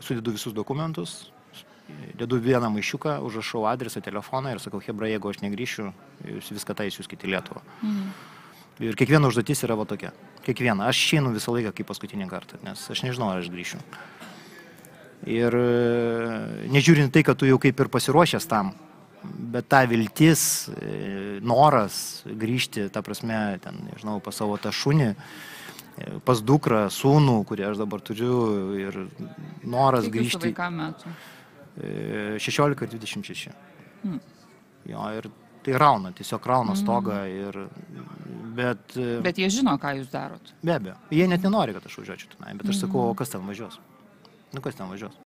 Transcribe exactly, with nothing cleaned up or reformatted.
sudedu visus dokumentus, dedu vieną maišiuką, užrašau adresą, telefoną ir sakau, hebra, jeigu aš negrįšiu, jūs viską tai siūskite į Lietuvą. Mhm. Ir kiekviena užduotis yra va tokia. Kiekviena. Aš išeinu visą laiką kaip paskutinį kartą, nes aš nežinau, ar aš grįšiu. Ir nežiūrint tai, kad tu jau kaip ir pasiruošęs tam, bet ta viltis, noras grįžti, ta prasme, ten, nežinau, pas savo tą šunį, pas dukrą, sūnų, kurį aš dabar turiu, ir noras Kiek grįžti. Kiek jūsų vaikam metų? šešiolika ir dvidešimt šeši. Hmm. Jo, ir tai rauna, tiesiog rauna stogą. Ir, bet, bet jie žino, ką jūs darot. Be abejo. Jie net nenori, kad aš važiuočiau tenai, bet aš sakau, o kas ten važiuos? Nu, kas ten važiuos?